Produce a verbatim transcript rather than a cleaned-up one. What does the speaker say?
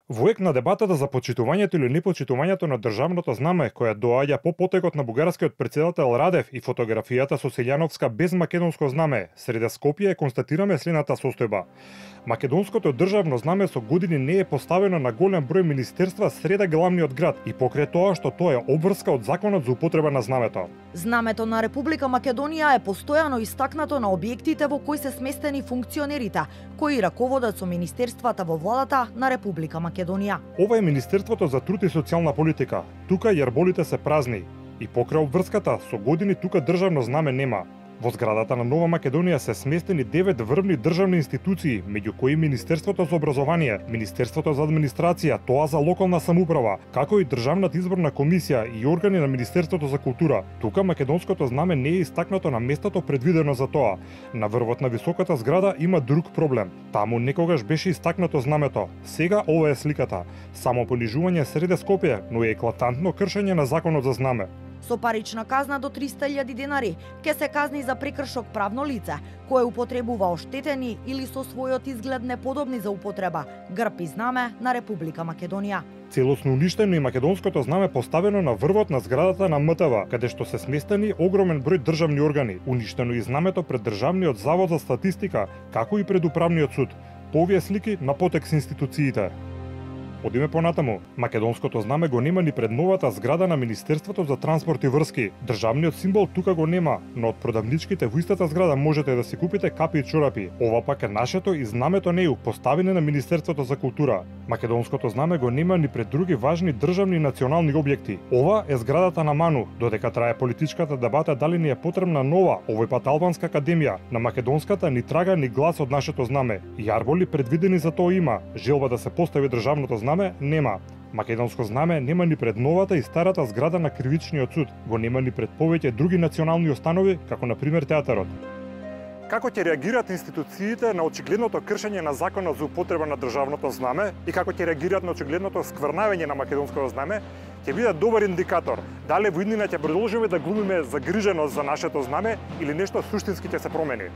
Во ек на дебатата за почитувањето или непочитувањето на државното знаме, која доаѓа по потекот на бугарскиот претседател Радев и фотографијата со Силјановска без македонско знаме, среде Скопје констатираме следната состојба. Македонското државно знаме со години не е поставено на голем број министерства среде главниот град и покрај тоа што тоа е обврска од законот за употреба на знамето. Знамето на Република Македонија е постојано истакнато на објектите во кои се сместени функционерите, кои раководат со министерствата во владата на Република Македонија. Ова е Министерството за труд и социјална политика. Тука јарболите се празни и покрај обврската со години тука државно знаме нема. Во зградата на Нова Македонија се сместени девет врвни државни институции, меѓу кои Министерството за образование, Министерството за администрација, тоа за локална самоуправа, како и Државната изборна комисија и органи на Министерството за култура. Тука македонското знаме не е истакнато на местото предвидено за тоа. На врвот на високата зграда има друг проблем. Таму некогаш беше истакнато знамето. Сега ова е сликата. Само понижување среде Скопје, но е еклатантно кршење на законот за знаме. Со парична казна до триста илјади денари ке се казни за прекршок правно лице кое употребува оштетени или со својот изглед неподобни за употреба грб и знаме на Република Македонија. Целосно уништено и македонското знаме поставено на врвот на зградата на М Т В, каде што се сместени огромен број државни органи. Уништено и знамето пред Државниот завод за статистика, како и пред Управниот суд. По овие слики на потек с институциите. Одиме понатаму. Македонското знаме го нема ни пред новата зграда на Министерството за транспорт и врски. Државниот символ тука го нема, но од продавничките во истата зграда можете да си купите капи и чорапи. Ова пак е нашето и знамето неју, поставени на Министерството за култура. Македонското знаме го нема ни пред други важни државни и национални објекти. Ова е зградата на Ману, додека трае политичката дебата дали ни е потребна нова, овој пат албанска академија. На македонската ни трага ни глас од нашето знаме. Јарболи предвидени за тоа има. Желба да се постави државното знаме нема. Македонско знаме нема ни пред новата и старата зграда на Кривичниот суд. Го нема ни пред повеќе други национални установи, како на пример театарот. Како ќе реагираат институциите на очигледното кршење на законот за употреба на државното знаме и како ќе реагираат на очигледното скврнавење на македонското знаме, ќе биде добар индикатор дали во иднина ќе продолжиме да глумиме загриженост за нашето знаме или нешто суштински ќе се промени.